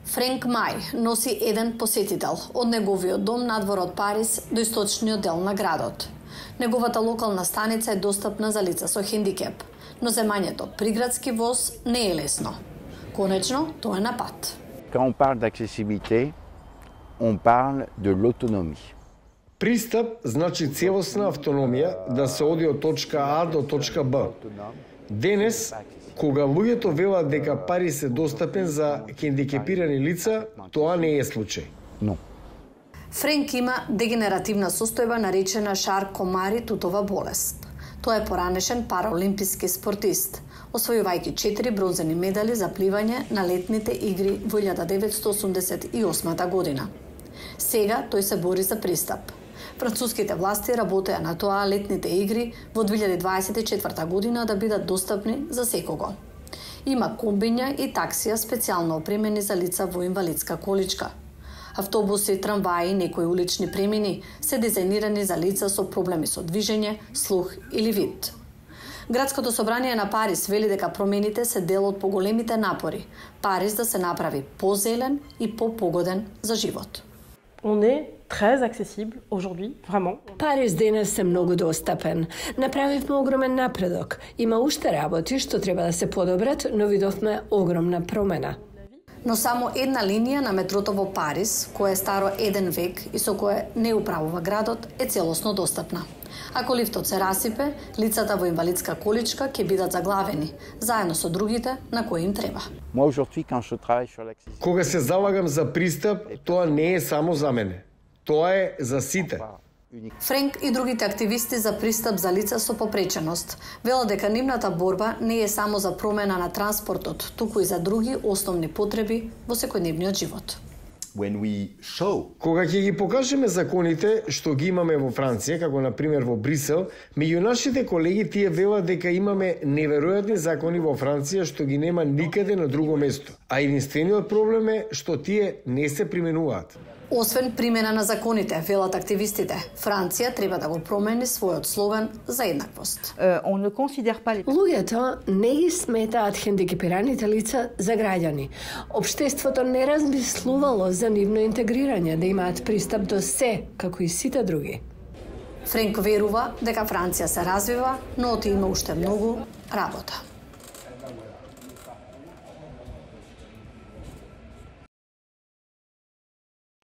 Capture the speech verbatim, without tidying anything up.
Френк Мај носи еден посетител од неговиот дом надвор од Париз до источниот дел на градот. Неговата локална станица е достапна за лица со хендикеп, но земањето приградски воз не е лесно. Конечно, тоа е на пат. Quand on parle d'accessibilité, on parle de l'autonomie. Пристап значи целосна автономија да се оди од точка А до точка Б. Денес, кога луѓето велат дека Париз е достапен за хендикепирани лица, тоа не е случај. No. Френк има дегенеративна состојба наречена Шар-Комари-Тутова болест. Тој е поранешен параолимписки спортист, освојувајќи четири бронзени медали за пливање на летните игри во илјада деветстотини осумдесет и осма година. Сега тој се бори за пристап. Француските власти работеа на тоа летните игри во две илјади дваесет и четврта година да бидат достапни за секого. Има комбиња и таксија специјално опремени за лица во инвалидска количка. Автобуси, трамваи и некои улични премини се дизајнирани за лица со проблеми со движење, слух или вид. Градското собрание на Париз вели дека промените се дел од поголемите напори Париз да се направи позелен и попогоден за живот. On est très accessible aujourd'hui, vraiment. Париз денес е многу достапен. Направивме огромен напредок. Има уште работи што треба да се подобрат, но видовме огромна промена. Но само една линија на метрото во Париз, која е старо еден век и со кое не управува градот, е целосно достапна. Ако лифтот се расипе, лицата во инвалидска количка ќе бидат заглавени, заедно со другите на кои им треба. Кога се залагам за пристап, тоа не е само за мене. Тоа е за сите. Френк и другите активисти за пристап за лица со попреченост велат дека нивната борба не е само за промена на транспортот, туку и за други основни потреби во секојдневниот живот. When we show... Кога ќе ги покажеме законите што ги имаме во Франција, како на пример во Брисел, меѓу нашите колеги тие велат дека имаме неверојатни закони во Франција што ги нема никаде на друго место. А единствениот проблем е што тие не се применуваат. Освен примена на законите, велат активистите, Франција треба да го промени својот слоган за еднаквост. Луѓето не ги сметаат хендикепираните лица за граѓани. Општеството не размислувало за нивно интегрирање, да имаат пристап до се, како и сите други. Френк верува дека Франција се развива, но оти има уште многу работа.